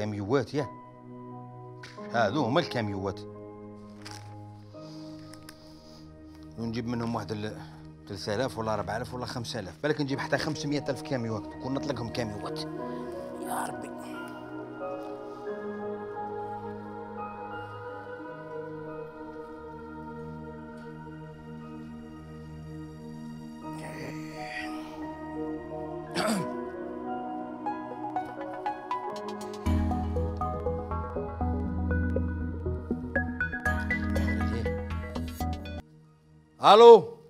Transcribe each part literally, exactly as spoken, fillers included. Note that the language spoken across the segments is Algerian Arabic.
كاميوات ياه، هادو هما الكاميوات، ونجيب منهم واحد ثلاثة آلاف ولا أربعة آلاف ولا خمسة آلاف، بالك نجيب حتى خمسمية ألف كاميوات، كون نطلقهم كاميوات يا ربي. الو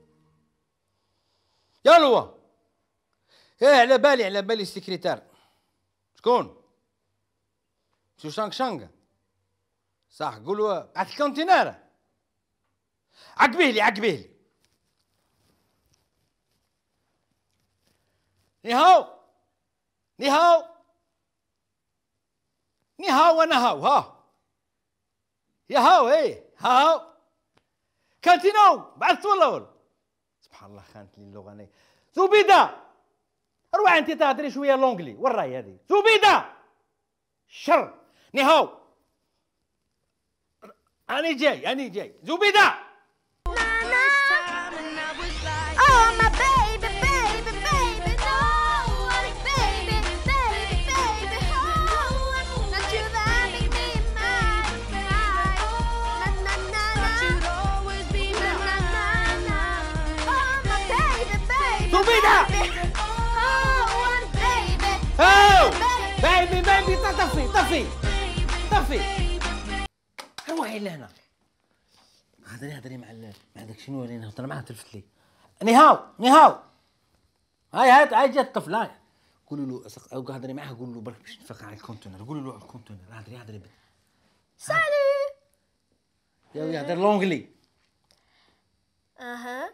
يا لوا، ايه على بالي على بالي السكرتير. شكون؟ شو شانغ شانغ صح، قولوا بعث الكونتينر. عقبيه لي عقبيه لي. نيهاو نيهاو نيهاو انا هاو ها يا هاو ايه هاو كانتينو بعثت ولا ولا؟ سبحان الله خانت لي اللغه انا. زبيده روح انت تهضري شويه لونجلي، وين راهي هذه؟ زبيده شر نيهاو اني جاي اني جاي زبيده. زبيدة هاو بيبي بيبي طفي طفي طفي. روحي لهنا هضري هضري مع مع داك شنو اللي نهضر معاه تلفت لي. نيهاو نيهاو هاي هات هاي جات الطفل هاي. قولوا له او هضري معاه قولوا له برك باش نفيق على الكونتينر. قولوا له على الكونتينر هضري هضري سالو يا يهضر لونجلي. اها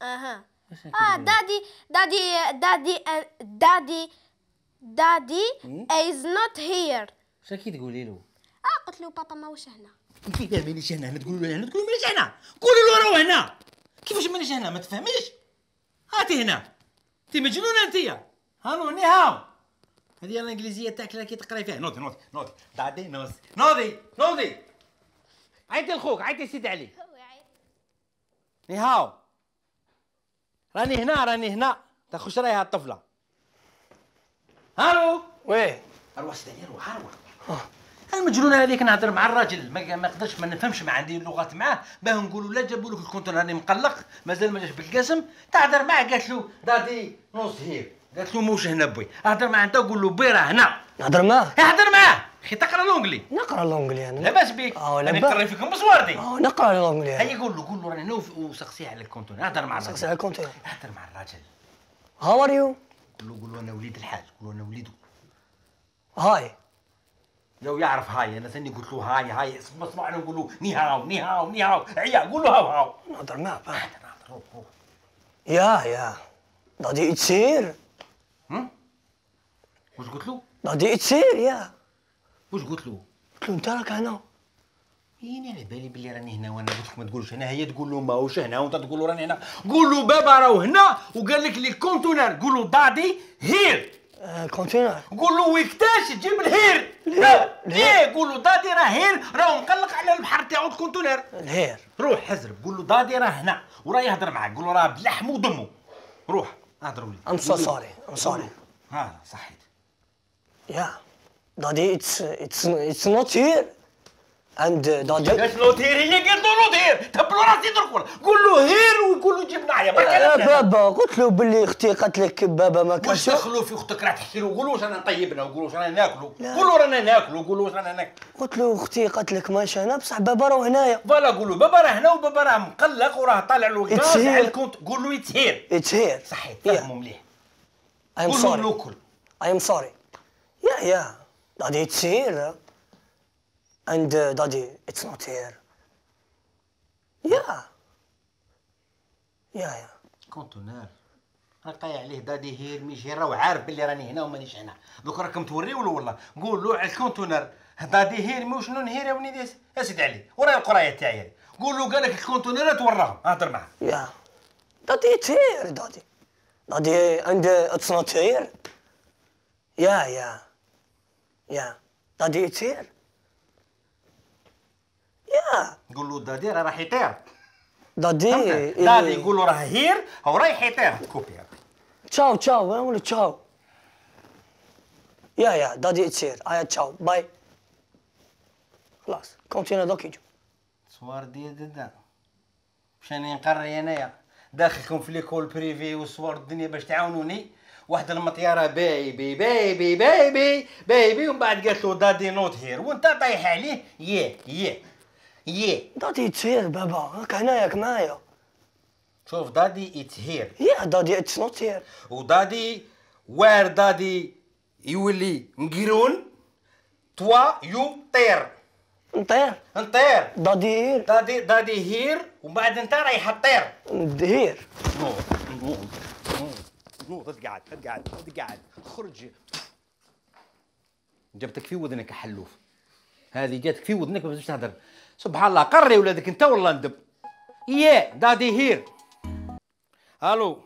اها اه دادي دادي دادي دادي دادي is not here. شاكي تقولي له؟ اه قلت له بابا ماهوش هنا. كيفاش مانيش هنا؟ هنا تقولوا له هنا تقولوا مانيش هنا. قولوا له راهو هنا. كيفاش مانيش هنا؟ ما تفهميش؟ هاتي هنا. انت مجنونه انت. هانو نيهاو. هذه الانجليزيه تاعك كي تقراي فيها. نوضي نوضي نوضي دادي نوضي نوضي نوضي. عيطي لخوك عيطي سيدي علي. نيهاو راني هنا راني هنا. تخش رايها الطفله. هالو ويه اروح سيدي روح روح. المجنونه هذيك نهضر مع الراجل ما نقدرش ما نفهمش ما عندي لغات معاه باه نقولوا لا جابوا لك الكونتينر راني مقلق مازال ما جاش بالقسم. تهضر معاه قالت له دادي نوص هير. قالت له موش هنا بوي. هضر معاه انت قول له بي راه هنا. نهضر معاه هضر معاه اخي تقرا لونجلي. نقرا لونجلي انا لاباس بيك. اه انا لاباس نقرا فيكم بصواردي. اه نقرا لونجلي. هيا قول له قول له راني هنا وسقسيه على الكونتينر. هضر مع الراجل سقسي على الكونتينر. هضر مع الراجل. هاو ار يو. قول له قول له انا وليد الحاج. قول له انا وليده. هاي لو يعرف هاي انا ثاني قلت له هاي هاي اسمع اسمع انا نقول له نيهاو نيهاو نيهاو عيا قول له هاو هاو. نهضر معاه هضر هضر روح روح. يا يا دادي اتسير. هم واش قلت له؟ دادي اتسير يا. واش قلت له؟ قلت له انت راك هنا. يني على بالي بلي راني هنا وانا قلت لك ما تقولش هنا. هي تقول له ماهوش هنا وانت تقول له راني هنا. قول له بابا راهو هنا وقال لك لي الكونتينر. قول له دادي هير. كونتينر. قول له ويكتاش تجيب الهير. الهير ليه؟ قول له دادي راه هير راهو مقلق على البحر تاعو الكونتينر. الهير. روح حزرب قول له دادي راه هنا وراه يهضر معاك. قول له راه بلحمه ودمه. روح اهضروا لي. ام سو سوري ام سوري. ها صحيت. يا دادي اتس اتس اتس نوت هير اند دادي. اش نوت هير؟ هي قالت له نوت هير. تبلو راسي درك. قول له هير ويقول له جيب معايا. يا بابا قلت له باللي اختي قالت لك بابا ما كانش. واش دخلوا في اختك راه تحكي له. قول له واش رانا طيبنا وقول له واش رانا ناكلوا. قول له رانا ناكلوا قول له واش رانا ناكلوا. قلت له اختي قالت لك ماشي هنا بصح بابا راه هنايا. فوالا قول له بابا راه هنا وبابا راه مقلق وراه طالع له غاز على الكونت. قول له اتس هير. اتس هير صحيت فهموا مليح. اي ام قول سوري. له ناكل. اي ام سوري. يا يا دادي اتس هير اند دادي اتس نوت هير. يا يا يا كونتونير قايع عليه دادي هير مش هير. راهو عارف بلي راني هنا ومانيش هنا. دوك راكم توريو له والله. قول له على الكونتونير دادي هير مو شنو نهير يا وليدي يا سيدي علي. وراي القرايه تاعي هذه. قول له قال لك الكونتونيرات وراهم. هضر معاه. يا دادي اتس هير دادي دادي اند اتس نوت هير. يا يا يا دادي اتس هير. يا نقول له دادي راه راح يطير. دادي دادي يقول له راه هير هو رايح يطير. كوبي هذا. تشاو تشاو ولا تشاو. يا يا دادي اتس هير. ايا تشاو باي. خلاص كونتينا دوك يجو. صوار ديال دادا واش راني نقري انايا داخلكم في ليكول بريفي وصور الدنيا باش تعاونوني. واحد المطياره بايبي بايبي بايبي بايبي ومن بعد قالت له دادي نوت هير وانت طايح عليه. ياه ياه ياه دادي اتس هير بابا راك هنايا معايا. شوف دادي اتس هير. يا دادي اتس نوت هير. ودادي وير دادي يولي نقيرون توا يو طير. نطير. نطير. دادي هير. دادي دادي هير ومن بعد انت رايح تطير. هير. نوض نوض نوض نوض تقعد تقعد تقعد خرج. جبتك في وذنك حلوف. هذه جاتك في وذنك باش تهدر. سبحان الله قري ولادك انت والله ندب. يا دادي هير. الو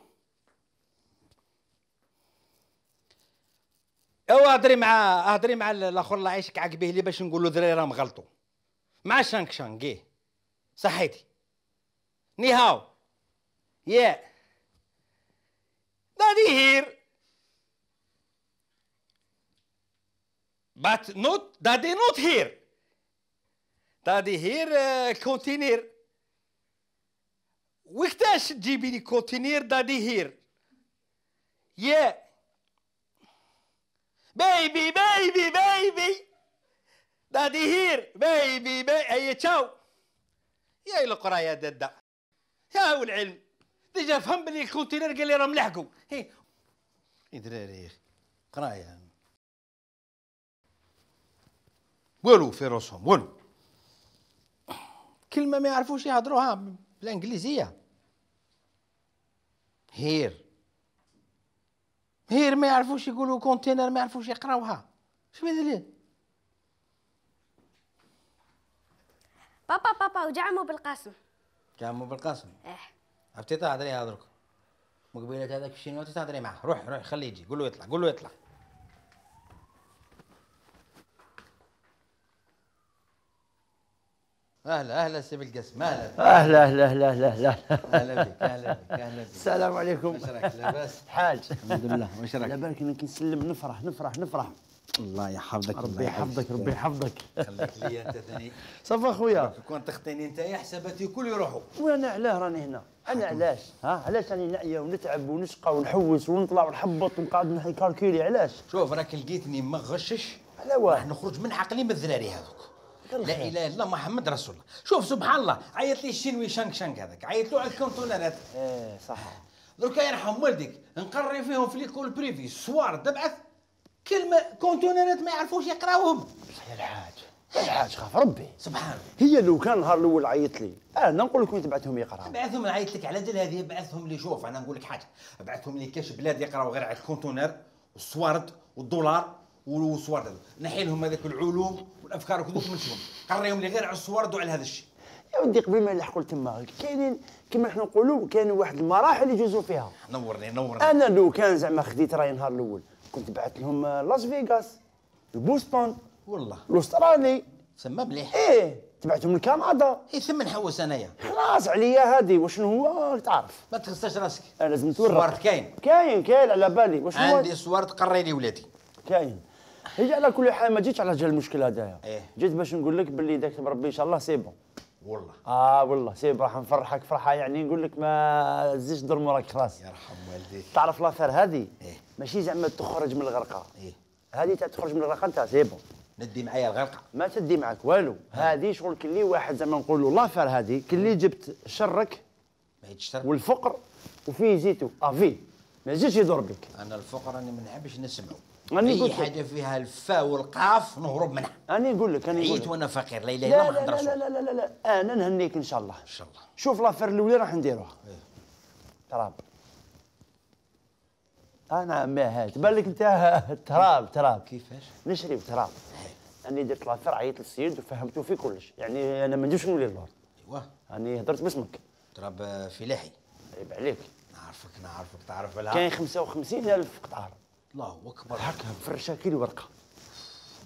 او هضري مع هضري مع الاخر الله يعيشك عقبيه لي باش نقول له دراري راهم غلطوا مع شانك شانك ايه صحيتي ني هاو يا دادي هير بات نوت دادي نوت هير دادي هير كونتينير وقتاش تجيبي لي كونتينير دادي هير يا بيبي بيبي بيبي دادي هير بيبي بي هيا تشاو. يا القرا يا دادا يا هو العلم ديجا فهم بلي الكونتينر قال لي راهم لحقوا. هي يا دراري يا اخي قرايه والو في راسهم والو كلمه ما يعرفوش يهضروها بالانجليزيه. هير هير ما يعرفوش يقولوا كونتينر ما يعرفوش يقراوها. شو بدليل؟ بابا بابا وجعمو بالقاسم. جامو بالقاسم. اه عرفتي تهضري هضرك مقبيلة هذاك الشينوا تهضري معاه. روح روح خليه يجي قول له يطلع قول له يطلع. اهلا اهلا سي بالقاسم اهلا اهلا اهلا اهلا اهلا اهلا اهلا بك اهلا بك اهلا بك. السلام عليكم. واش راك لاباس؟ حاج الحمد لله. واش راك؟ على بالك انا كي نسلم نفرح نفرح نفرح. الله يحفظك ربي يحفظك ربي يحفظك. خليك ليا انت ثاني. صافا خويا. كون تخطيني انت يا حساباتي الكل يروحوا. وانا علاه راني هنا؟ انا علاش؟ ها علاش راني نعيا ونتعب ونشقى ونحوس ونطلع ونحبط ونقعد نحي كالكيلي علاش؟ شوف راك لقيتني ما غشش على واه راح نخرج من عقلي من الذراري هذوك. لا اله الا الله محمد رسول الله. شوف سبحان الله عيط لي الشينوي شانك شانك هذاك عيط له على الكونتونرات. ايه صح. دركا يرحم والديك نقري فيهم في ليكول بريفي السوار تبعث كلمه كونتونرات ما يعرفوش يقراوهم. صحيح الحاج الحاج خاف ربي. سبحان هي لو كان النهار الاول عيط لي انا نقول لك وين تبعثهم يقراو. بعثهم نعيط لك على جال هذه بعثهم لي. شوف انا نقول لك حاجه بعثهم لي كاش بلاد يقراو غير على الكونتونر والسوارد والدولار والسوارد هذو نحي لهم هذاك العلوم والافكار وكذوك منشهم قريهم لي غير على السوارد وعلى هذا الشيء. يا ودي قبل ما يلحقوا تما كاينين كما حنا نقولوا كاينين واحد المراحل يجوزوا فيها. نورني نورني. انا لو كان زعما خديت راي النهار الاول كنت بعث لهم لاس فيغاس البوسطن والله الاسترالي. سما مليح. ايه تبعتهم لكندا. اي ثم نحوس انايا. خلاص عليا هذه واش هو تعرف. ما تخصش راسك. انا لازم نتورط. سوارد كاين. كاين كاين على بالي واش هو. عندي سوارد قري لي ولادي. كاين. هي على كل حال ما جيتش على جال المشكل هذايا. إيه. جيت باش نقول لك باللي داك بربي ان شاء الله سي بون. والله. اه والله سي راح نفرحك فرحه يعني نقول لك ما تزيدش تضر موراك خلاص. يرحم والديك. تعرف لافير هذه إيه. ماشي زعما تخرج من الغرقه. إيه. هذه تاع تخرج من الغرقه انت سي بون. ندي معايا الغرقه. ما تدي معك والو. هذه شغل كلي واحد زعما نقولوا لافير هذه كلي جبت شرك ما يتشتر. والفقر وفيه زيتو افي ما يجيش يضر بك. انا الفقر راني ما نحبش نسمعه. راني اي قلت حاجه فيها الفاء والقاف نهرب منها. انا نقول لك انا نقول عييت لك وانا فقير لا اله لا الا الله محمد لا رسول لا الله. لا لا لا لا انا نهنيك ان شاء الله. ان شاء الله. شوف لافير الاولى راح نديروها. إيه. تراب. انا ما هات بالك انت تراب تراب كيفاش؟ نشري بتراب. اني درت لافير عيطت للسيد وفهمته في كلش يعني انا ما نديرش نولي للورد. ايوا. اني هضرت باسمك. تراب فلاحي. عيب عليك. نعرفك نعرفك تعرف لها. كاين خمسة وخمسين ألف قطار. الله اكبر. هكا مفرشه كيلو ورقه.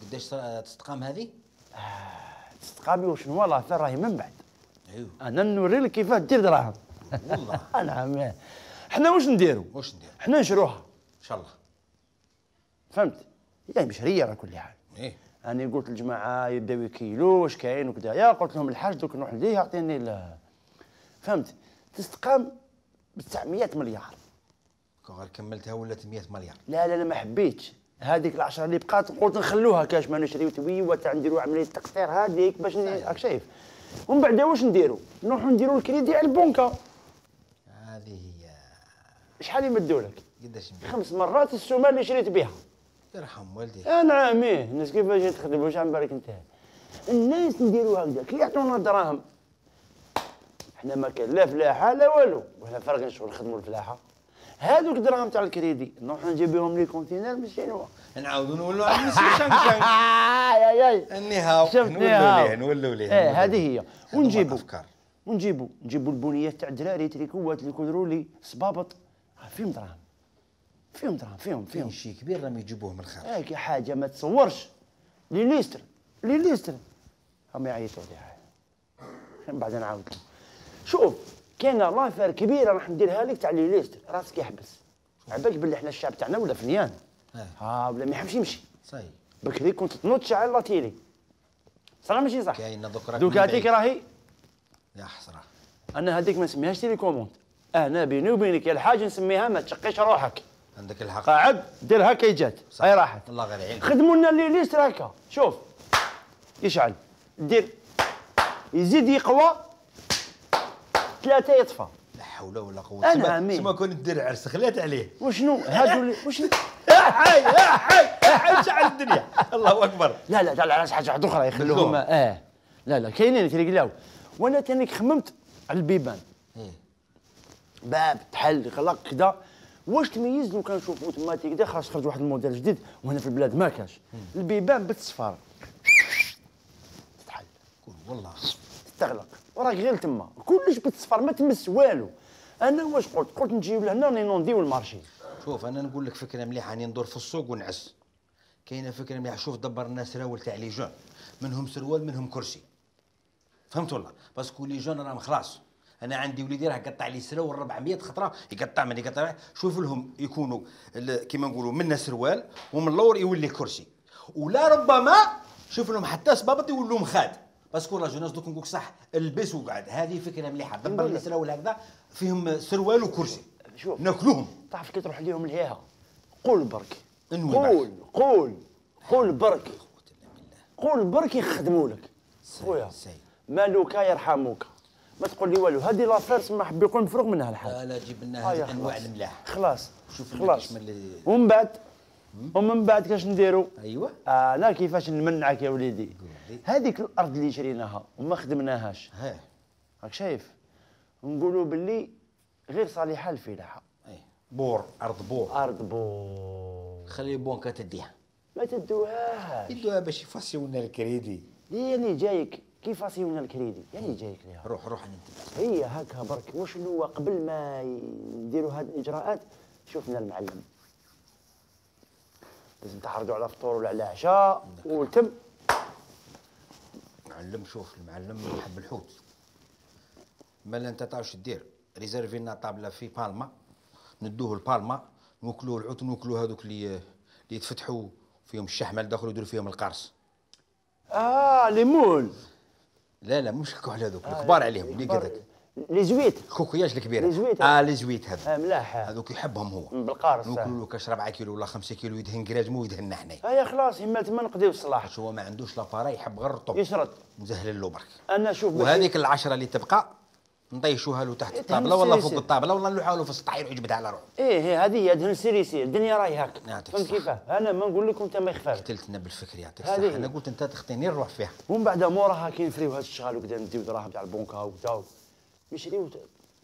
قداش تستقام هذه؟ تستقامي وشنو والله ثرى راهي من بعد. ايوه انا نوري لك كيفاه دير دراهم. والله. نعم. حنا واش نديروا؟ واش ندير؟ حنا نشروها ان شاء الله. فهمت؟ يعني مشريه على كل حال. ايه انا قلت للجماعه يبداو يكيلوا واش كاين وكذا، يا قلت لهم الحاج دوك نروح ليه يعطيني ال- فهمت؟ تستقام ب تسعمية مليار. كون غير كملتها ولات مية مليار. لا لا لا ما حبيتش هذيك العشرة اللي بقات، قلت نخلوها كاش ما نشريو توي تاع نديروا عمليه تقطير هذيك باش راك شايف. ومن بعد واش نديروا؟ نروحوا نديروا الكريدي على البنكه. هذه هي. شحال يمدوا لك؟ قداش ندير؟ خمس مرات السومه اللي شريت بها. يرحم والديك. انا عاميه الناس كيفاش تخدم واش عم بالك انت؟ الناس نديروا هكذا كي يعطونا دراهم. احنا ما كان لا فلاحه لا والو، وحنا فرق شغل نخدموا الفلاحه. هذوك الدراهم تاع الكريدي نروحوا نجيب بهم لي كونتينر من شنو؟ نعاودوا نولوا على المسيو شنشن. اي اي النهاو شفت نولوا نهاو. ليه نولوا ليه. ايه هذه هي. ونجيبوا افكار. ونجيبوا نجيبوا البنيات تاع الدراري تريكوات اللي يكودروا لي صبابط فيهم دراهم. فيهم دراهم فيهم فيهم. فيهم شيء كبير راهم يجيبوه من الخارج. هاك حاجه ما تصورش. لي ليستر لي ليستر هم يعيطوا لي من بعد نعاود لهم. شوف كاين لافير كبيره راح نديرها لك تاع لي ليستر راسك يحبس. عبالك باللي احنا الشعب تاعنا ولا فنيان. ها ولا ما يحبش يمشي. صحيح. بكري كنت تنوض على لاتيلي. صح ماشي صح؟ كاين دوك راك دوك هذيك راهي يا حسره. انا هذيك ما نسميهاش تيليكوموند. انا بيني وبينك يا الحاج نسميها ما تشقيش روحك. عندك الحق. قاعد دير هكا يجات هاي راحت. الله غير يعينك. خدموا لنا اللي ليست هكا شوف يشعل دير يزيد يقوى ثلاثة يطفى. لا حول ولا قوة. أنا عمي. سما كون دير عرس خليت عليه. وشنو هادو اللي وشنو؟ يا حي يا حي يا حي شعل الدنيا. الله اكبر. لا لا تاع على حاجه واحده اخرى يخلوهم اه لا لا كاينين تيقلاو. وانا تاني خممت على البيبان. ايه. باب تحل يغلق كذا. واش تميز لو كان نشوفوا تما كذا خاص خرج واحد الموديل جديد وهنا في البلاد ما كاش. البيبان بالتصفار تتحل. قول والله. تغلق وراك غير تما كلش بالتصفار ما تمس والو. انا واش قلت؟ قلت نجيب لهنا نونديو المارشي. شوف انا نقول لك فكره مليحه راني ندور في السوق ونعس. كاينه فكره مليحه. شوف دبر الناس سراول تاع لي جون منهم سروال منهم كرسي. فهمت والله؟ باسكو لي جون راهم خلاص. انا عندي وليدي راه قطع لي سراول أربعمية خطره يقطع من يقطع. شوف لهم يكونوا كيما نقولوا منا سروال ومن اللور يولي كرسي. ولا ربما شوف لهم حتى صبابط يولوا مخاد. باسكو لا جوناس دوك نقولك صح البس وقعد. هذه فكره مليحه. دبر لي سراول هكذا فيهم سروال وكرسي. شوف ناكلوهم. تعرف كي تروح ليهم لهيها قول برك. انوي قول برك. قول قول برك. قول برك يخدموا لك. خويا مالوكا يرحموك. ما تقول لي والو. هذه لافير سما حب يقول مفروغ منها الحال. لا لا جيب لنا هذه الانواع الملاح. خلاص شوف خلاص. اللي... ومن بعد ومن بعد كاش نديروا؟ ايوه انا كيفاش نمنعك يا وليدي. هذيك الارض اللي شريناها وما خدمناهاش ها راك شايف نقولوا باللي غير صالحه للفلاحه. اي بور ارض بور. ارض بور. خلي البنكه تديها. ما تدوهاش. يدوها باش يفاسيونا الكريدي. يعني جايك كيف فاسيونا الكريدي يعني جايك ليها. روح روح انت. هي هكا برك. وشنو قبل ما يديروا هذه الاجراءات شوفنا المعلم لازم تحرجوا على فطور ولا على عشاء وتم. معلم شوف المعلم يحب الحوت. مالا انت تعرف دير ريزيرفي لنا طابله في بالما ندوه لبالما نوكلوه الحوت ونوكلوه هذوك اللي اللي يتفتحوا فيهم الشحمه لداخل يديروا فيهم القرص. اه لي مول. لا لا مش كحل هذوك الكبار عليهم اللي قدك. لي زويت. الكوكياج الكبيره. لي زويت. اه لي زويت هذا. اه ملاح. هذوك يحبهم هو. بالقارص. نوكلوا له كاش ربعة كيلو ولا خمسة كيلو يدهن كراجمو ويدهننا حنايا. هيا خلاص يما تما نقضيو الصلاح. باش هو ما عندوش لاباراي يحب غير الرطب. يشرد. نزهل له برك. انا شوف وهذيك العشره اللي تبقى نطيشوها له تحت الطابله ولا فوق الطابله ولا نلوحها له في السطح يروح يجبدها على روحه. ايه ايه هذه هي دهن سيريسي الدنيا راهي هاك. يعطيك فهمت الصحة. كيفاه؟ انا ما نقول لك وانت ما يخفاك. قتلتنا بالفكر يعطيك الصحه. انا قلت انت تخطيني نروح فيها. ومن بعد موراها كي نفريو هذا الشغل وكذا نديو دراهم تاع البنكه وكذا نشريو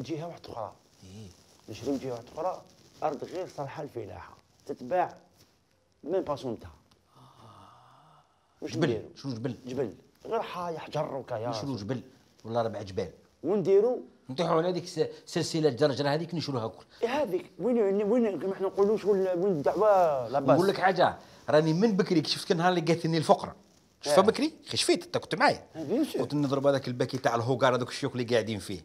جهه واحده اخرى. ايه نشريو جهه واحده اخرى ارض غير صالحه للفلاحه تتباع من باسونتها. جبل شنو جبل؟ جبل غير حاية حجر وكايا. نشرو جبل ولا ربع جبال ونديروا نطيحوا على هذيك سلسله الجرجره هذيك نشروها كل. هذيك وين وين ما احنا نقولوا شغل وين الدعوه لاباس. نقول لك حاجه راني من بكري شفت نهار اللي قاتلني الفقره شفتها بكري خشفيت انت كنت معايا كنت نضرب هذاك الباكي تاع الهوكار هذوك الشيوخ اللي قاعدين فيه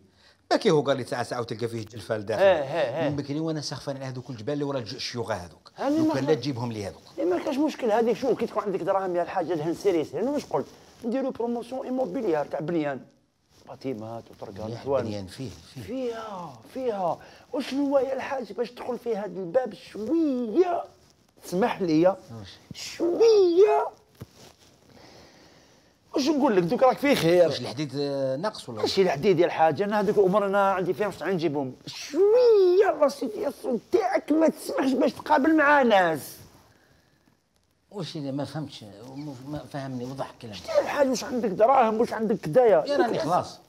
باكي هوكار اللي ساعه ساعه وتلقى فيه جلفه لداخل من بكري وانا سخفان على هذوك الجبال اللي ورا الشيوخه هذوك لو كان لا تجيبهم لي هذوك ما كاش مشكل هذيك شوف كي تكون عندك دراهم يا الحاج دهن سيريس انا واش قلت نديروا بروموسيون ايموبيليار تاع بنيان باتيمات وطرقان بنيان فيه فيه فيها فيها وشنو هو يا الحاج باش تدخل في هذا الباب شويه اسمح لي شويه واش نقول لك دوك راك في خير واش الحديد ناقص ولا ماشي الحديد يا الحاج انا هذوك الامور انا عندي فيهم واش نجيبهم شويه الله سيدي الصوت تاعك ما تسمحش باش تقابل مع ناس واش ما فهمتش ما فهمني وضح كلامك شتي الحاج واش عندك دراهم واش عندك كدايا يا راني خلاص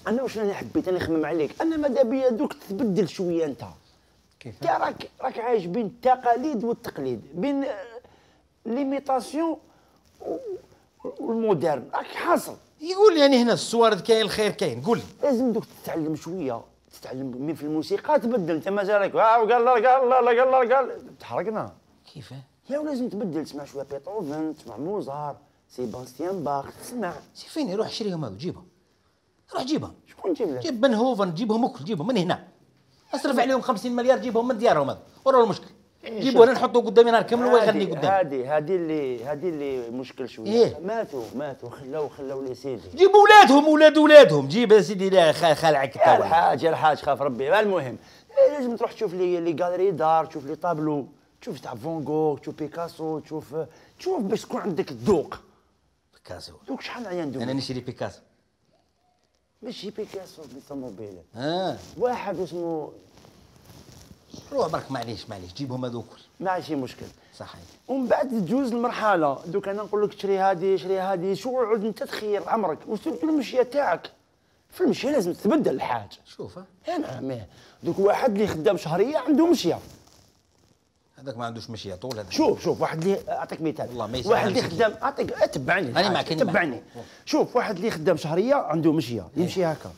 انا واش راني حبيت انا نخمم عليك انا ماذا بيا دوك تبدل شويه انت كيف انت راك راك عايش بين التقاليد والتقليد بين ليميتاسيون والمودرن راك حاصل يقول يعني هنا الصوارد كاين الخير كاين قول لي لازم دوك تتعلم شويه تتعلم من في الموسيقى تبدل انت مازالك قال لا قال لا قال لا قال تحرقنا كيف يا لازم تبدل تسمع شويه بيتهوفن تسمع موزار سيباستيان باخ تسمع سي فين روح شريهم هذو جيبهم روح جيبهم شكون جيب لك جيب بنهوفن جيبهم الكل جيبهم من هنا اصرف عليهم خمسين مليار جيبهم من ديارهم هذا ورا المشكل جيبوا انا نحطوا قدامي نهار كامل ويغني قدامي هذه هذه اللي هذه اللي مشكل شويه إيه؟ ماتوا ماتوا خلاو خلاو لي سيدي جيبوا ولادهم ولاد ولادهم جيب يا سيدي لا خالعك يا الحاج يا الحاج خاف ربي المهم لازم تروح تشوف لي لي غاليري دار تشوف لي طابلو تشوف تاع فون جوغ تشوف بيكاسو تشوف تشوف باش تكون عندك الذوق بيكاسو دوك شحال عيان دوك انا نشري بيكاسو ماشي بيكاسو بالطوموبيل اه واحد اسمه روح برك معليش معليش جيبهم هذوك ماشي مشكل صحيح ومن بعد تجوز المرحله دوك انا نقول لك شري هذه شري هذه شو عود انت تخير عمرك وسيرتو المشيه تاعك في المشيه لازم تتبدل الحاج شوف نعم دوك واحد اللي خدام شهريه عنده مشيه هذاك ما عندوش مشيه طول هذا شوف شوف واحد اللي اعطيك مثال والله ما واحد اللي خدام اعطيك تبعني انا معك تبعني شوف واحد اللي خدام شهريه عنده مشيه يمشي هكا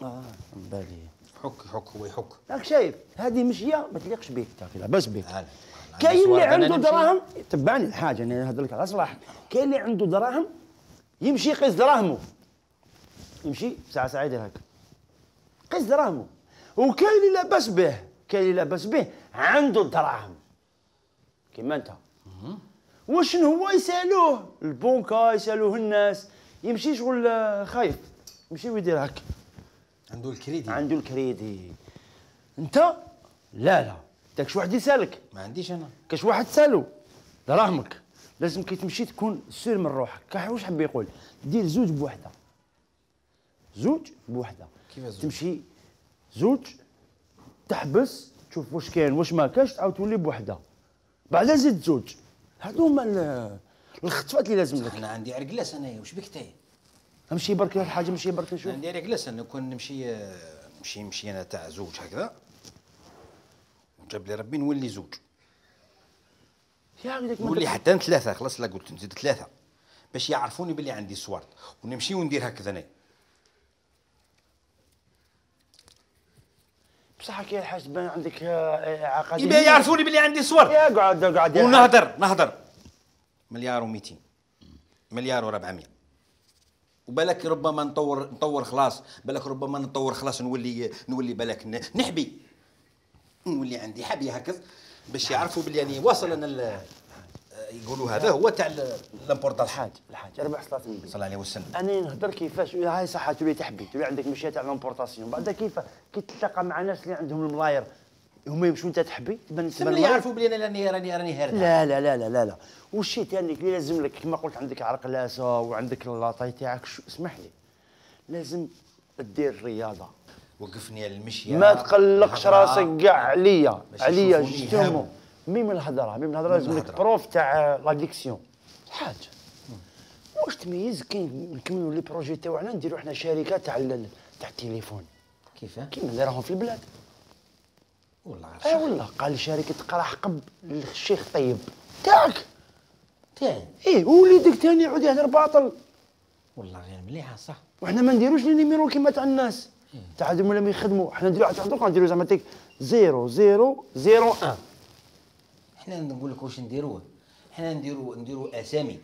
اه بالي حك حك هو يحك راك شايف هذه مشيه ما تليقش بك تاكل لاباس بك هلا كاين اللي عنده دراهم تبعني الحاجه انا نهضر لك على صلاح كاين اللي عنده دراهم يمشي يقيس دراهمه يمشي ساعه ساعه يدير هكا قيس دراهمه وكاين اللي لاباس به كاين اللي لاباس به عنده الدراهم كيما انت وشنو هو يسالوه البنكه يسالوه الناس يمشي شغل خايف يمشي ويدير هكا عنده الكريدي عنده الكريدي انت لا لا داكش واحد يسالك ما عنديش انا كاش واحد سالو دراهمك لازم كي تمشي تكون سير من روحك كاع واش حب يقول دير زوج بوحده زوج بوحده كيف زوج تمشي زوج تحبس تشوف واش كاين واش ما كاش تعاود تولي بوحده بعدا زيد زوج هادو هما الخطفات اللي لازم لك انا عندي عرقلاس انايا واش بك تاي امشي برك الحاجه مشي برك نشوف عندي عرقلاس انا كون نمشي نمشي نمشي انا تاع زوج هكذا وجاب لي ربي نولي زوج يا ولدك نولي حتى ثلاثه خلاص لا قلت نزيد ثلاثه باش يعرفوني باللي عندي سوارت ونمشي وندير هكذا انا بصح كي الحاج تبان عندك عقد يبقى يعرفوني باللي عندي سوارت يا قعد قعد ونهضر نهضر مليار ومئتين مليار وربعمية وبالك ربما نطور نطور خلاص بالك ربما نطور خلاص نولي نولي بالك نحبي نولي عندي حبي هكذا باش يعرفوا باللي يعني واصل انا يقولوا هذا هو تاع لامبورطاسيون الحاج الحاج اربع صلاه النبي صلى الله عليه وسلم انا نهضر كيفاش هاي صح تولي تحبي تولي عندك مشيه تاع لامبورطاسيون بعد كيف كي تلتقى مع ناس اللي عندهم الملاير هما يمشوا انت تحبي تبان تبان يعرفوا بلي انا راني راني راني هارد لا لا لا لا لا لا والشيء ثاني اللي لازم لك كما قلت عندك عرقلاسه وعندك اللاطاي تاعك اسمح لي لازم دير الرياضه وقفني على المشيه ما تقلقش راسك كاع عليا عليا جسمو ميم الهضره ميم الهضره لازم لك بروف تاع لاديكسيون الحاج واش تميز كاين نكملوا لي بروجي تاعنا نديروا حنا شركه تاع تاع التليفون كيفاه كيما اللي راهم في البلاد والله اي والله قال شركه قراح قب للشيخ طيب تاعك تاعي ايه ووليدك ثاني يعود يهدر باطل والله غير مليحه صح وحنا ما نديروش لي نيميرو كيما تاع الناس تاع هذوما اللي يخدموا حنا نديرو تاع دوك نديرو زعما تيك زيرو زيرو زيرو واحد حنا نقول لك واش نديروه، حنا نديرو نديرو اسامي،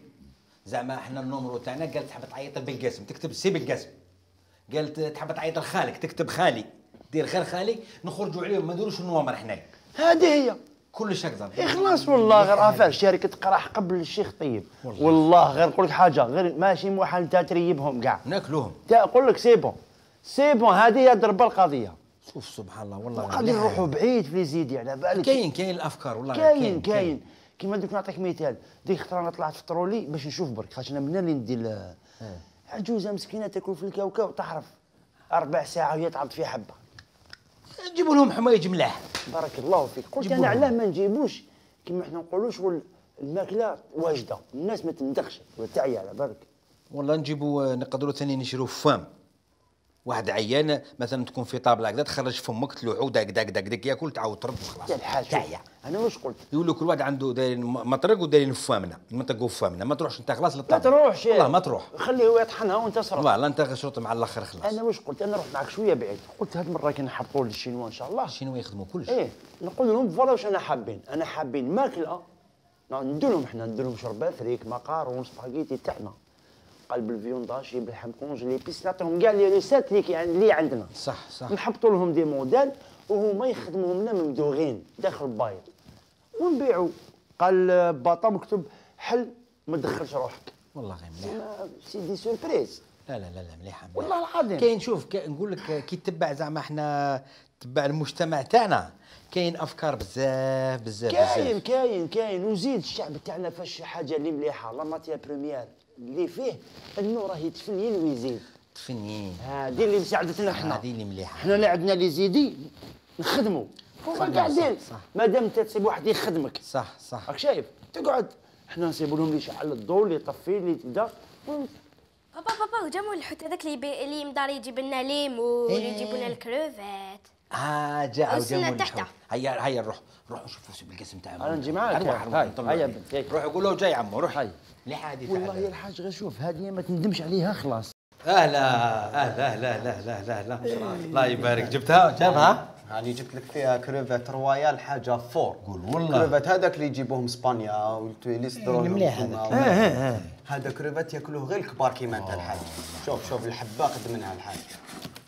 زعما حنا النومرو تاعنا قال تحب تعيط بالقاسم تكتب سي بالقاسم، قالت تحب تعيط لخالك تكتب خالي، دير غير خالي، نخرجوا عليهم ما نديروش النوامر حنايا. هذه هي كلش هكذا. اخلاص والله، غير افعل شركه قراح قبل الشيخ طيب. والله, والله غير نقول لك حاجه، غير ماشي موحل انت تريبهم كاع ناكلوهم. نقول لك سي بون سي بون، هذه هي درب القضيه. شوف سبحان الله والله قاعدين نروحوا بعيد في زيدي على بالك. كاين كاين الافكار والله كاين كاين كيما دوك نعطيك مثال، ديك خطره انا طلعت في الطرولي باش نشوف برك، خاطر انا من اللي ندير عجوزه مسكينه تاكل في الكاوكاو تحرف ربع ساعه وهي تعض في حبه. نجيبوا لهم حوايج ملاح. بارك الله فيك. قلت انا علاه ما نجيبوش كيما حنا نقولوا شغل الماكله واجده، الناس ما تندخش وتعيا على بالك. والله نجيبوا نقدروا ثاني نشريو فام، واحد عيان مثلا تكون في طابله هكذا تخرج فمك تلوحو داك داك داك داك ياكل تعاود ترد وخلاص. يا الحاج تعيا. انا واش قلت؟ يقولوا كل واحد عنده دايرين مطرق ودايرين فامنا، المنطق وفامنا، ما تروحش انت خلاص ما للطابله. تروحش والله ما تروح. خليه هو يطحنها وانت صرف. والله انت شرط مع الاخر خلاص. انا واش قلت؟ انا نروح معك شويه بعيد، قلت هاد المره كي نحبطوا للشينوا ان شاء الله. الشينوا يخدموا كلش. ايه نقول لهم فوالا واش انا حابين، انا حابين ماكله ندير لهم حنا ندير لهم شربات فريك مقارون سباغيتي تاعنا، قلب الفيونداشي باللحم كونجلي بيس، نعطيهم كاع لي ريسات اللي يعني اللي عندنا. صح صح. نحبطوا لهم دي موديل وهما يخدموهم لنا ممدوغين داخل البايض ونبيعوا. قال باطا مكتوب حل ما تدخلش روحك. والله غير مليح. سي دي سوربريز. لا لا لا لا مليحه. والله العظيم. كاين شوف نقول لك كي تتبع زعما احنا تبع المجتمع تاعنا كاين افكار بزاف بزاف كاين بزاف. كاين كاين وزيد الشعب تاعنا فاش حاجه اللي مليحه لا ماتيا بريميير اللي فيه انه راه يتفنين ويزيد. تفنين. هذه اللي مساعدتنا حنا. هذه اللي مليحه. حنا اللي عندنا لي زيدي نخدموا هما قاعدين مادام انت تسيب واحد يخدمك. صح صح. راك شايف تقعد حنا نسيبوا لهم اللي يشعل الضوء اللي يطفي اللي تبدا. بابا بابا جابوا الحوت هذاك اللي بي... اللي مدار يجيب لنا ليمون يجيبوا لنا الكروفات. اه جاء وصلنا وجابوا تحته. هيا هيا نروح نروح نشوفوا سوق القسم تاعهم. انا نجي معاك. روح روح هاي نطلعوا هيا عليه. بنت روح قول له جاي عمو روح. هاي مليحه هذه. والله يا الحاج غير شوف هذه ما تندمش عليها خلاص. اهلا اهلا اهلا اهلا اهلا اهلا الله يبارك. جبتها جابها؟ يعني جبت لك فيها كروفات رويال حاجه فور. قول والله. كروفات هذاك اللي يجيبوهم اسبانيا والتويليسترول. مليح هذاك. ايه هذا كروفات ياكلوه غير الكبار كيما انت الحاج. شوف شوف الحبه قد منها الحاج.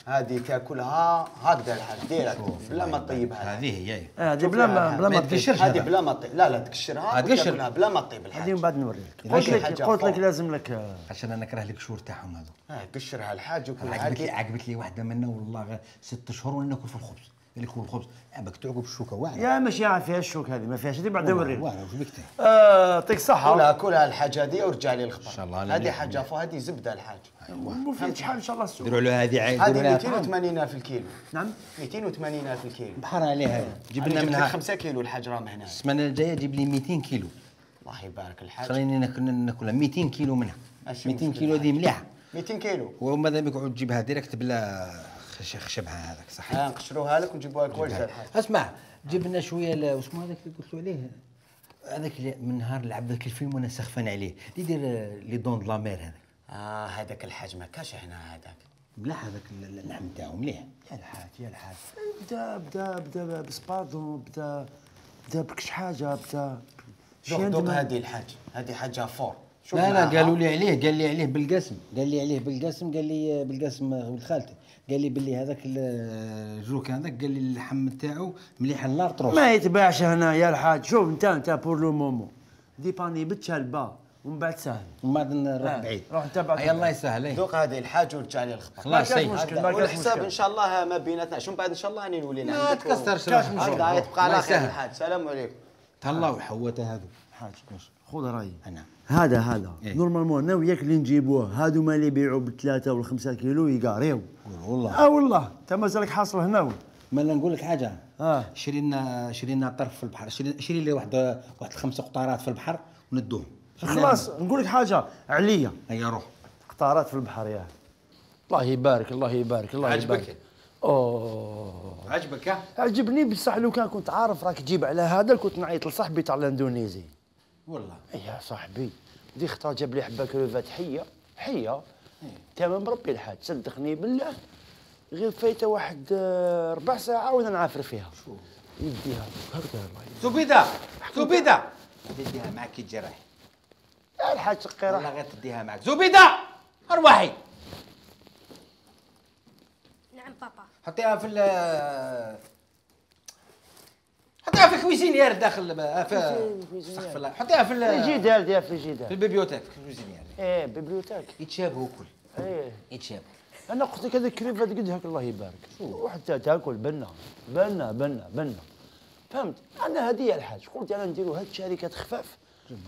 هذه تاكلها هكذا الحاج ديرها بلا ما تطيبها. هذه هي. هذه بلا ما بلا ما تقشرش. هذه بلا ما تطيب. لا لا تقشرها وتاكلها بلا ما تطيب الحاج. هذه من بعد نوريك. هذه قلت لك حاجة قلت لك فوق. لازم لك. عشان انا نكره القشور تاعهم هذو. اه قشرها الحاج وكل عجبت لي حاجه. عجبت لي واحده منا والله غير ست شهور وانا ناكل في الخبز. قال لك هو الخبز عباك تعقب الشوكه واعره. يا ماشي عارف فيها الشوك هذه ما فيهاش. هذه بعد نوريك. واعره وش بك اه يعطيك الصحة. كلها كلها الحاجه هذه ورجع لي الخبر. إن شاء الله. هذه حاجه فوق هذه زبده الحاج. وفي شحال ان شاء الله السوق. ديروا له هذه عيد. هذه مئتين وثمانين ألف الكيلو. نعم مئتين وثمانين ألف الكيلو. بحر عليها جيب لنا جبت لك منها خمسة كيلو الحاج راه هنا. السمانه الجايه جيب لي مئتين كيلو. الله يبارك الحاج. خليني ناكل ناكلها مئتين كيلو منها. ماشي مئتين مشكل كيلو هذه مليحه. مئتين كيلو. وماذا بك تعود تجيبها ديريكت بلا خش- خشبها هذاك صح. ها نقشروها لك ونجيبوها لك وجه الحاج. اسمع جيب لنا شويه ال- واسمه هذاك اللي قلت له عليه هذاك اللي من نهار لعب ذاك الفيلم وانا سخفان عليه اللي يدير لي دون دو لا مير هذاك. اه هذاك الحاج ما كاش هنا هذاك. مليح هذاك ال- اللحم تاعو مليح. يا الحاج يا الحاج بدا بدا بدا بسباردون بدا بدا بكش حاجه بدا دوق دوق هذه الحاج. هذه حاجه فور. شوف لا لا معاها. قالوا لي عليه قال لي عليه بالقسم قال لي عليه بالقسم قال لي بالقسم ولد خالتي قال لي باللي هذاك الجوك هذاك قال لي اللحم تاعو مليح النار تروح. ما يتباعش هنا يا الحاج. شوف انت انت بور لو مومون ديباني بتشالبا ومن بعد سهل. ومن بعد نروح آه، بعيد. روح انت بعد. اي الله يسهل اي. دوق هذه الحاج ورجع لي الخبر. خلاص كاش سي. مشكل. هذا ما كاش والحساب مشكل. ان شاء الله ما بيناتنا. شو من بعد ان شاء الله راني نولي ما نعندك. تكسرش كاش روحك. مشكل. هذا يتبقى الله على خير يسهل. الحاج. السلام عليكم. تهلاو حوته هذو. حاج خذ رايي. نعم. هذا هذا إيه. نورمالمون انا وياك اللي نجيبوه هادو ما اللي يبيعوا بالثلاثه والخمسه كيلو يقاريو. والله. اه والله انت مازالك حاصل هنا. ما نقول لك حاجه. اه شري لنا شري لنا طرف في البحر شري شري لي واحد واحد خمسه قطارات في البحر وندوهم. خلاص نقول لك حاجه عليا هيا روح. قطارات في البحر يا الله يبارك الله يبارك الله عجبك؟ يبارك. اوه عجبك ها؟ عجبني بصح لو كان كنت عارف راك تجيب على هذا كنت نعيط لصاحبي تاع الاندونيزي. والله. يا صاحبي دي خطره جاب لي حبه كروفات حيه حيه تمام ربي الحاج صدقني بالله غير فايته واحد آه، ربع ساعه وانا نعافر فيها. يديها هكذا الله يديها. زبيده زبيده تديها معك كي تجي رايح. يا الحاج شقي والله غير تديها معك. زبيده ارواحي. نعم بابا. حطيها في ال حطيها في الكويزينيير داخل في استغفر الله. حطيها في الفريجيدير ديال الفريجيدير. في البيبيوتيك في الكويزينيير. ايه بيبليوتيك. يتشابهوا كل. ايه يتشابهوا. انا قلت لك هذيك الكريفات قد هاك الله يبارك وحتى تاكل بنا بنا بنا بنا فهمت. انا هذه هي الحاج قلت انا نديروا هاد الشركات خفاف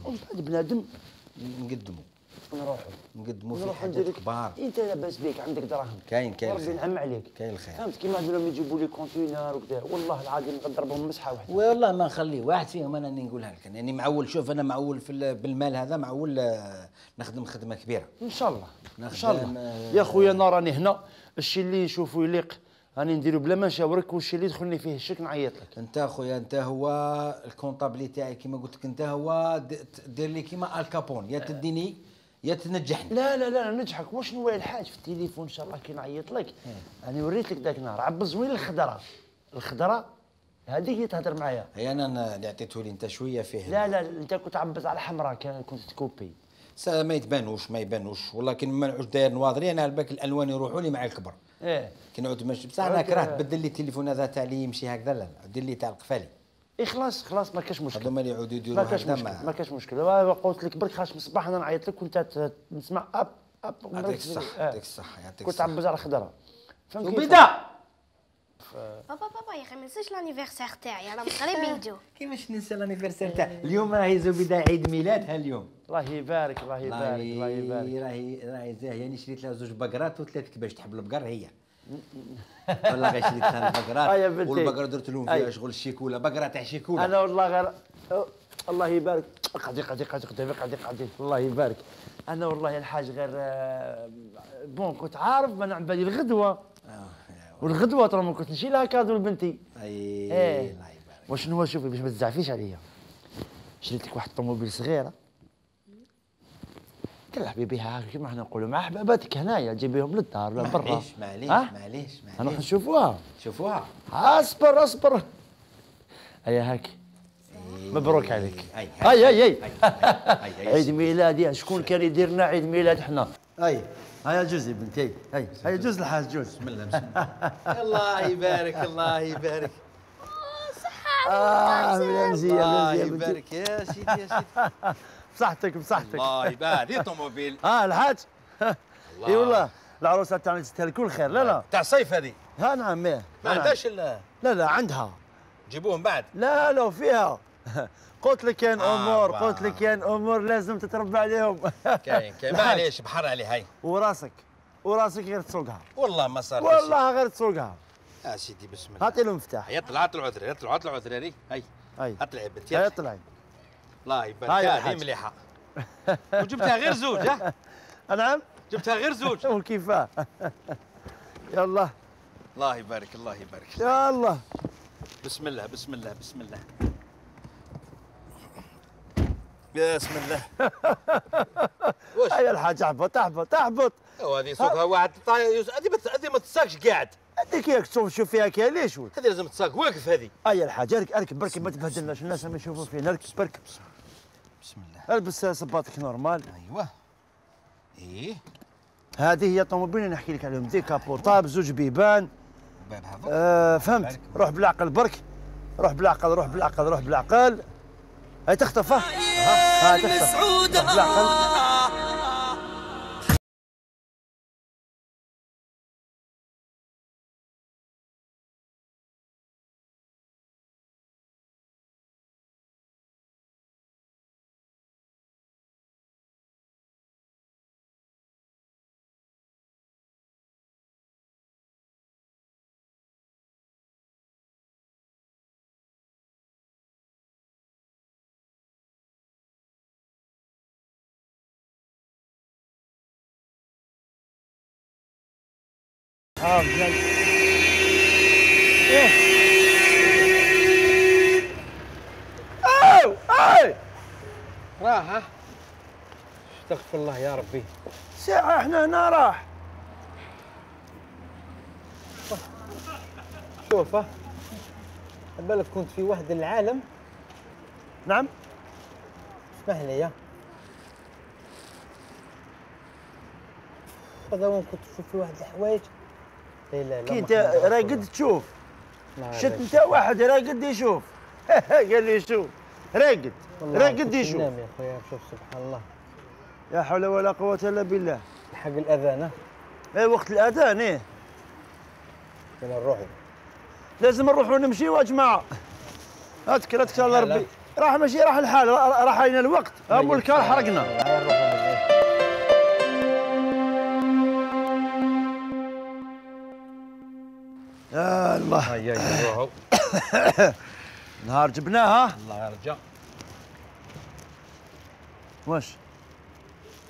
ومن بعد بنادم نقدموا نروحوا نقدموا في نروحوا حاجات نديروا كبار. انت لاباس بيك عندك دراهم كاين كاين ربي الخير. ينعم عليك كاين الخير. فهمت كيما هذو لما يجيبوا لي كونتينر وكذا والله العظيم نضربهم مسحه واحده. والله ما نخلي واحد فيهم انا نقولها لك يعني معول. شوف انا معول في ال- بالمال هذا معول آه، نخدم خدمه كبيره ان شاء الله ان نخدم، شاء الله آه، يا خويا انا راني هنا الشيء اللي نشوفه يليق راني نديرو بلا ما نشاورك والشيء اللي يدخلني فيه الشك نعيط لك. انت خويا انت هو الكونطابلي تاعي كيما قلت لك انت هو د- دير لي كيما الكابون يا تديني يا تنجحني. لا لا لا نجحك واش نولي الحاج في التليفون ان شاء الله كي نعيط لك انا وريت لك ذاك النهار عبز وين الخضره الخضره هذيك اللي تهضر معايا. هي انا اللي عطيته لي انت شويه فيه. لا لا انت كنت عبز على حمراء كان كنت تكوبي. سا ما يتبانوش ما يبانوش والله كي ما نعود داير نواضري انا على بالك الالوان يروحوا لي مع الكبر. ايه كي نعود ماشي بصح انا كرهت بدل لي التليفون هذا تاع اللي يمشي هكذا لا دير لي تاع القفالي. ايه خلاص خلاص ما كاش مشكل. هذوما اللي يعودوا يديروا ما كاش هكذا مشكل ما ما كاش مشكل وا- قلت لك برك خاش من الصباح انا نعيط لك وانت ت- نسمع اب اب يعطيك الصحه يعطيك الصحه يعطيك كنت الصحه. عبز على الخضره فهمت كيف؟ وبدا بابا بابا يا اخي ما ننساش لانيفرسير تاعي راهم قريب يجوا. كيفاش ننسى لانيفرسير تاع اليوم راهي زبيده عيد ميلادها اليوم. الله يبارك الله يبارك الله يبارك. راهي راهي زاهيه انا شريت لها زوج بقرات وثلاث كباش تحب البقر هي. والله غير شريت لها آه يا البقرات بنتي. والبقره درت لهم فيها أي. شغل الشيكوله بقره تاع شيكوله. انا والله غير أه، الله يبارك قعدي قعدي قعدي قعدي قعدي قعدي الله يبارك. انا والله يا الحاج غير آه، بون كنت عارف ما نعم بالي الغدوه آه، والغدوه ترى ما كنت نشيل لها كادو لبنتي. اي ايه الله يبارك. وشنو هو شوفي باش ما تزعفيش عليا شريت لك واحد الطوموبيل صغيره تلعبي بها هكا كيما حنا نقولوا مع احباباتك هنايا تجيبيهم للدار ولا برا. معليش معليش ها؟ معليش نروح معليش نشوفوها. شوفوها. اصبر اصبر هيا هاك مبروك عليك. هاي هاي هاي هاي هاي عيد ميلادي شكون كان يدير لنا عيد ميلاد حنا. هاي هيا جوزي بنتي هاي هيا جوز الحاج جوز. بسم الله بسم الله. الله يبارك الله يبارك. اه مزيان الله مزيان بنتي يبارك يا سيدي يا سيدي. بصحتك بصحتك. الله يبارك. هذه طوموبيل اه الحاج اي والله العروسه تاعنا تستاهل كل خير. لا لا تاع الصيف هذه ها نعم ايه ما عندهاش ال- لا لا عندها جيبوهم بعد. لا لا فيها قلت لك كاين آه، امور واه. قلت لك كاين امور لازم تتربى عليهم. كاين كاين معليش بحر عليه هاي. وراسك وراسك غير تسوقها والله ما صار شي. والله غير تسوقها. يا سيدي بسم الله. هاتي له المفتاح. يطلع يطلع عذري يطلع يطلع عذري هاي هاي اطلعي بنتي هاي اطلعي. طلعي. الله يبارك. هاي هذه الحاج. مليحه. وجبتها غير زوج ها. نعم جبتها غير زوج. وكيفاه. يلا الله يبارك الله يبارك. يلا بسم الله بسم الله بسم الله. بسم الله. واش هيا الحاج احبط احبط احبط. وهذه سوقها واحد طاي- هذه ما هذه ما تساقش قاعد. هذيك ياك تشوف شوف فيها كاين ليش ولد. هذه لازم تساق واقف هذه. هيا الحاج اركب اركب بركي ما تبهدلناش الناس ما يشوفوا فينا اركب بركب. بسم الله. البس صباطك نورمال. ايوه. ايه هذه هي الطوموبيل اللي نحكي لك عليهم ديكابوطاب زوج بيبان. باب هذا. آه فهمت روح بالعقل برك روح بالعقل روح بالعقل روح بالعقل. هاي تخطف ها ها تخطف روح بالعقل. اه مزيان. ايه اوه اي راه ها. استغفر الله يا ربي. ساعة احنا هنا راح. شوف ها. بالك كنت في واحد العالم. نعم. اسمح لي يا هذا وين كنت تشوف في واحد الحوايج. لا لا لا كي انت راقد تشوف شت انت واحد راقد يشوف. قال لي شوف راقد راقد يشوف. نام يا خويا شوف سبحان الله. لا حول ولا قوة الا بالله. حق الاذان. اي وقت الاذان ايه. يلا نروحوا. لازم نروحوا نمشيوا يا جماعة. اذكر اذكر الله ربي. راح ماشي راح الحال راح علينا الوقت. ابو الكار حرقنا. يا الله. هيا نروحوا. نهار جبناها. الله يرجع. واش؟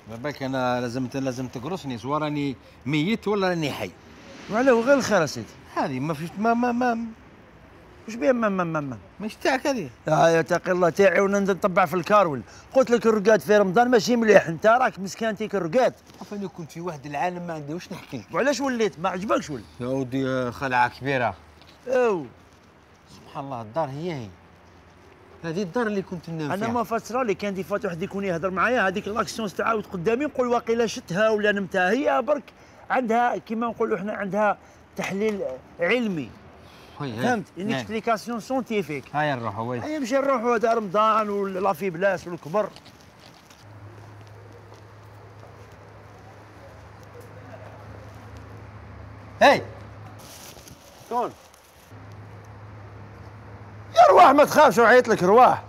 ما بالك انا لازم لازم تقرصني سواء راني ميت ولا راني حي. وعلاه غير الخير يا سيدي. هذه ما فيش ما ما ما واش بيها ما ما ما ما مش تاعك هذه. يا تقي الله تاعي وننزل نطبع في الكارول. قلت لك الرقاد في رمضان ماشي مليح. انت راك مسكانتيك الرقاد. انا كنت في واحد العالم ما عندي واش نحكي لك. وعلاش وليت ما عجبكش ولا؟ يا ودي خلعه كبيره. او سبحان الله الدار هي هي. هذه الدار اللي كنت ننام فيها. انا ما فسرها لي كان دي فات واحد يكون يهضر معايا هذيك لاكسيون تعاود قدامي نقول واقيلا شتها ولا نمتها. هي برك عندها كيما نقولوا احنا عندها تحليل علمي. فهمت؟ اون اكسبليكاسيون سونتيفيك. هيا نروحوا وي. هيا نمشي نروحوا هذا رمضان ولا في بلاس والكبر. هاي شكون؟ يا رواح ما تخافش وعيط لك رواح.